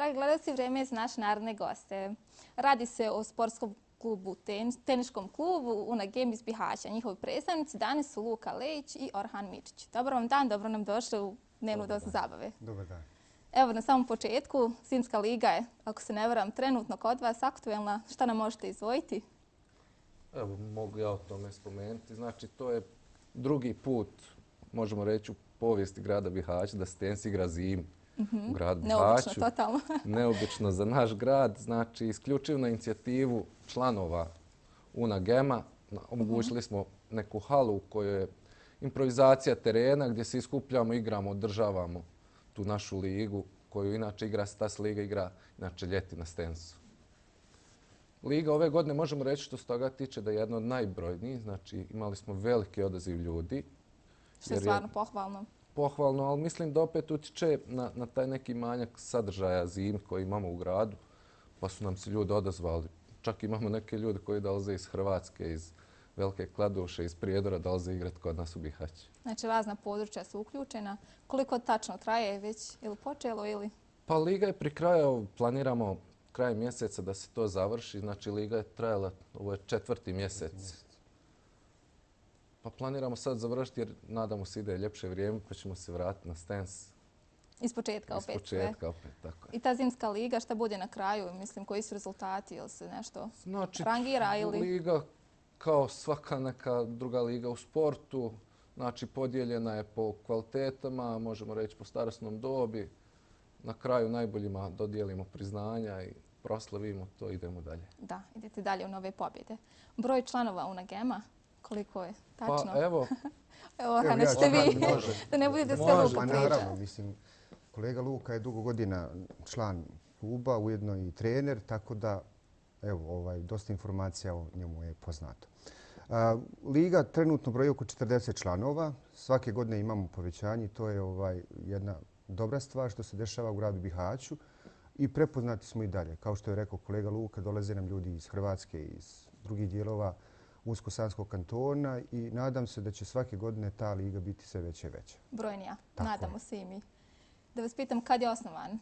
Dragi gledalci, vrijeme je za naše narodne goste. Radi se o sportskom klubu, teniškom klubu Una Game iz Bihaća. Njihovi predstavnici danas su Luka Lejić i Orhan Mičić. Dobar vam dan, dobro nam došli u dnevnu dozu zabave. Dobar dan. Evo, na samom početku, Zimska liga je, ako se ne varam, trenutno kod vas aktuelna. Šta nam možete izdvojiti? Evo, mogu ja o tome spomenuti. Znači, to je drugi put, možemo reći, u povijesti grada Bihaća da se tenis igra zimu u gradu Bihaću. Neobično, totalno. Neobično za naš grad. Znači, isključivo na inicijativu članova Una Gema omogućili smo neku halu u kojoj je improvizacija terena gdje se iskupljamo, igramo, održavamo tu našu ligu koju inače igra Stas Liga, igra inače ljeti na Stensu. Liga ove godine možemo reći što se toga tiče da je jedna od najbrojnijih. Znači, imali smo veliki odaziv ljudi. Što je stvarno pohvalno. Pohvalno, ali mislim da opet utiče na taj neki manjak sadržaja zime koji imamo u gradu, pa su nam se ljudi odazvali. Čak imamo neke ljude koji dolaze iz Hrvatske, iz Velike Kladuše, iz Prijedora, dolaze igrati kod nas u Bihać. Znači, razna područja su uključena. Koliko tačno traje već? Ili počelo ili? Pa liga je pri kraju, planiramo kraj mjeseca da se to završi. Znači, liga je trajala, ovo je 4. mjesec. Pa planiramo sad završiti jer nadamo se ide ljepše vrijeme pa ćemo se vratiti na Stens. Iz početka opet. Iz početka opet, tako je. I ta zimska liga, šta bude na kraju? Mislim, koji su rezultati? Ili se nešto rangira ili? Liga kao svaka neka druga liga u sportu. Znači, podijeljena je po kvalitetama, možemo reći po starosnom dobi. Na kraju najboljima dodijelimo priznanja i proslavimo to, idemo dalje. Da, idete dalje u nove pobjede. Broj članova Una Gema, koliko je tačno? Pa evo. Evo, nećete vi, da ne budete sve Luka priča. Naravno, mislim, kolega Luka je dugo godina član kluba, ujedno i trener, tako da, evo, dosta informacija o njemu je poznato. Liga trenutno broji oko 40 članova. Svake godine imamo povećanje. To je jedna dobra stvar što se dešava u gradu Bihaću i prepoznati smo i dalje. Kao što je rekao kolega Luka, dolaze nam ljudi iz Hrvatske i iz drugih dijelova Unsko-Sanskog kantona i nadam se da će svake godine ta liga biti sve veća i veća. Brojnija. Nadamo se i mi. Da vas pitam, kad je osnovan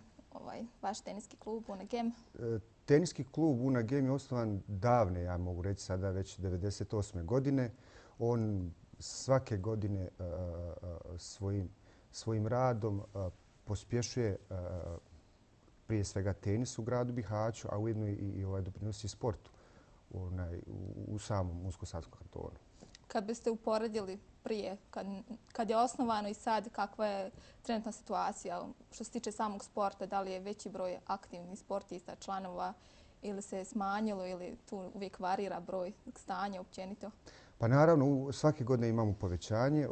vaš teniski klub Una Game? Teniski klub Una Game je osnovan davne, ja mogu reći sada već 1998. godine. On svake godine svojim radom pospješuje prije svega tenis u gradu Bihaću, a ujedno i doprinosi sportu u samom Unsko-Sanskom kantonu. Kad biste uporedili prije, kad je osnovano i sad, kakva je trenutna situacija što se tiče samog sporta, da li je veći broj aktivnih sportista, članova ili se je smanjilo ili tu uvijek varira broj stanja općenito? Pa naravno, svake godine imamo povećanje.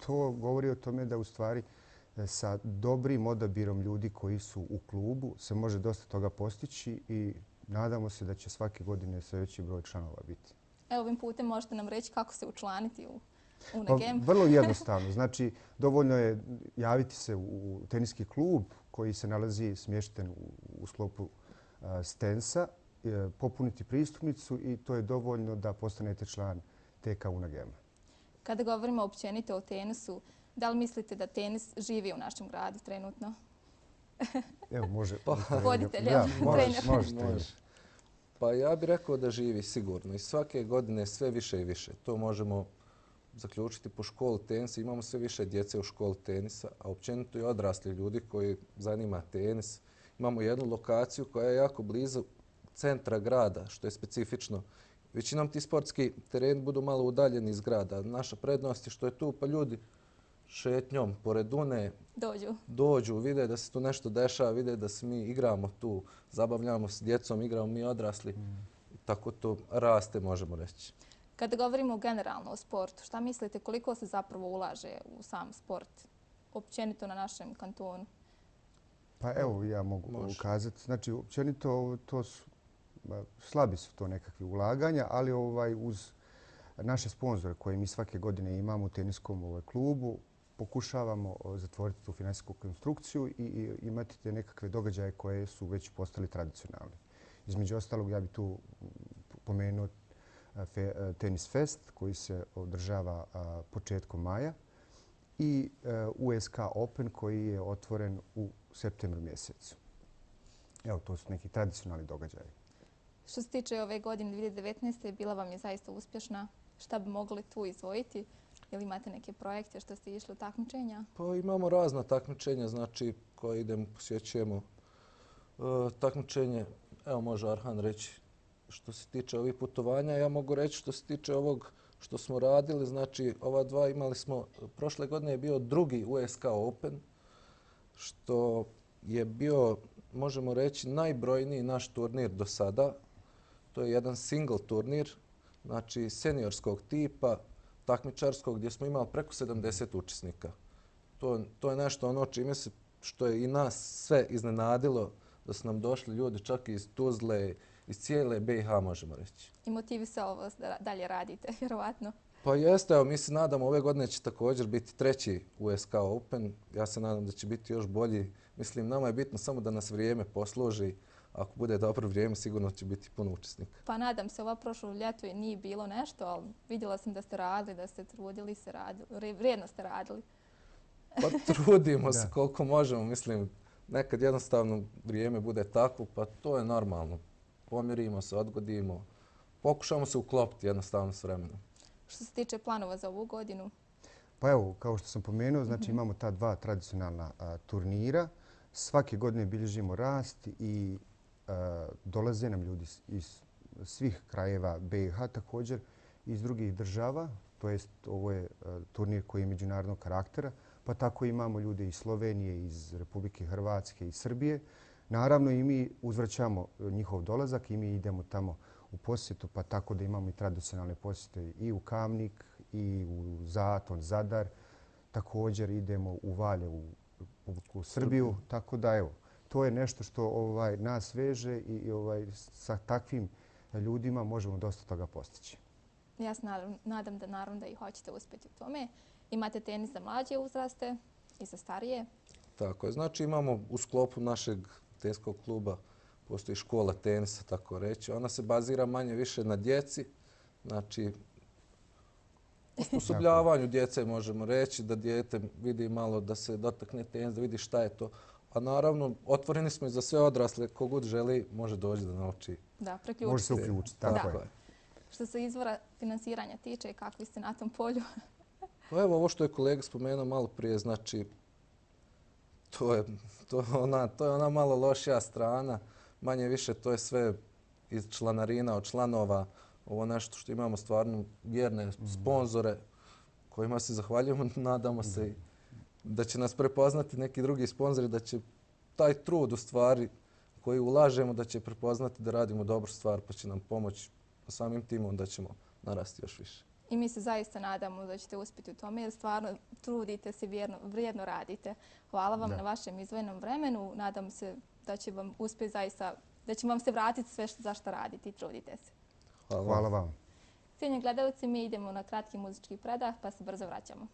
To govori o tome da u stvari sa dobrim odabirom ljudi koji su u klubu se može dosta toga postići i nadamo se da će svake godine sve veći broj članova biti. Evo, ovim putem možete nam reći kako se učlaniti u Una Game? Vrlo jednostavno. Znači, dovoljno je javiti se u teniski klub koji se nalazi smješten u sklopu Stensa, popuniti pristupnicu i to je dovoljno da postanete član TK Una Gema. Kada govorimo općenito o tenisu, da li mislite da tenis živi u našem gradu trenutno? Evo, može. Voditelj, može. Pa ja bih rekao da živi sigurno i svake godine sve više i više. To možemo zaključiti po školi tenisa. Imamo sve više djece u školi tenisa, a općenito i odrasli ljudi koji zanima tenis. Imamo jednu lokaciju koja je jako blizu centra grada, što je specifično. Većinom ti sportski tereni budu malo udaljeni iz grada. Naša prednost je što je tu, pa ljudi šetnjom pored Une dođu, vide da se tu nešto dešava, vide da se mi igramo tu, zabavljamo s djecom, igramo mi odrasli. Tako to raste, možemo reći. Kada govorimo generalno o sportu, šta mislite koliko se zapravo ulaže u sam sport općenito na našem kantonu? Pa evo, ja mogu ukazati. Znači, općenito to su slabi su to nekakvi ulaganja, ali uz naše sponzore koje mi svake godine imamo u teniskom klubu pokušavamo zatvoriti tu financijsku konstrukciju i imati te nekakve događaje koje su već postali tradicionalni. Između ostalog, ja bih tu pomenuo Tenis Fest koji se održava početkom maja i USK Open koji je otvoren u septembru mjesecu. Evo, to su neki tradicionalni događaji. Što se tiče ove godine 2019. bila vam je zaista uspješna. Šta bi mogli tu izdvojiti? Ili imate neke projekte što ste išli u takmičenja? Pa imamo razna takmičenja, znači koje idemo, posjećujemo. Takmičenje, evo može Arhan reći što se tiče ovih putovanja. Ja mogu reći što se tiče ovog što smo radili, znači ova dva imali smo, prošle godine je bio drugi USK Open, što je bio, možemo reći, najbrojniji naš turnir do sada. To je jedan single turnir, znači seniorskog tipa, takmičarskog, gdje smo imali preko 70 učesnika. To je nešto ono čime se, što je i nas sve iznenadilo, da su nam došli ljudi čak iz Tuzle, iz cijele BiH, možemo reći. I motivisalo vas da dalje radite, vjerovatno. Pa jeste, evo, mi se nadamo, ove godine će također biti treći USK Open. Ja se nadam da će biti još bolji. Mislim, nama je bitno samo da nas vrijeme posluži. Ako bude dobro vrijeme, sigurno će biti puno učesnika. Pa nadam se, ova prošlo ljeto je nije bilo nešto, ali vidjela sam da ste radili, da ste trudili se radili, vrijedno ste radili. Pa trudimo se koliko možemo. Mislim, nekad jednostavno vrijeme bude takvo, pa to je normalno. Pomjerimo se, odgodimo. Pokušamo se uklopiti jednostavno s vremenom. Što se tiče planova za ovu godinu? Pa evo, kao što sam pomenuo, znači imamo ta dva tradicionalna turnira. Svake godine bilježimo rast i dolaze nam ljudi iz svih krajeva BiH, također iz drugih država. To jest, ovo je turnir koji je međunarodnog karaktera, pa tako imamo ljude iz Slovenije, iz Republike Hrvatske i Srbije. Naravno i mi uzvraćamo njihov dolazak i mi idemo tamo u posjetu, pa tako da imamo i tradicionalne posjete i u Kamnik i u Zaton, Zadar. Također idemo u Valjevu, u Srbiju. Tako da evo, to je nešto što nas veže i sa takvim ljudima možemo dosta toga postići. Ja se nadam da naravno da i hoćete uspjeti u tome. Imate tenis za mlađe uzraste i za starije. Tako je. Znači imamo u sklopu našeg teniskog kluba postoji škola tenisa, tako reći. Ona se bazira manje više na djeci. Znači, osposobljavanju djece možemo reći, da dijete vidi malo, da se dotakne tenis, da vidi šta je to. A naravno, otvoreni smo i za sve odrasle. Kogod želi, može doći da nauči. Da, preključiti. Može se uključiti, tako je. Što se izvora finansiranja tiče, kakvi ste na tom polju? Pa evo, ovo što je kolega spomenuo malo prije, znači, to je ona malo lošija strana. Manje više to je sve iz članarina, od članova. Ovo nešto što imamo stvarno vjerne sponzore kojima se zahvaljujemo. Nadamo se da će nas prepoznati neki drugi sponzori, da će taj trud u stvari koji ulažemo da će prepoznati da radimo dobru stvar pa će nam pomoći samim timom da ćemo narasti još više. I mi se zaista nadamo da ćete uspjeti u tome jer stvarno trudite se, vrijedno radite. Hvala vam na vašem izdvojenom vremenu. Nadam se da će vam uspjeti zaista, da će vam se vratiti sve za što radite i trudite se. Hvala vam. Cijenjeni gledalci, mi idemo na kratki muzički predah pa se brzo vraćamo.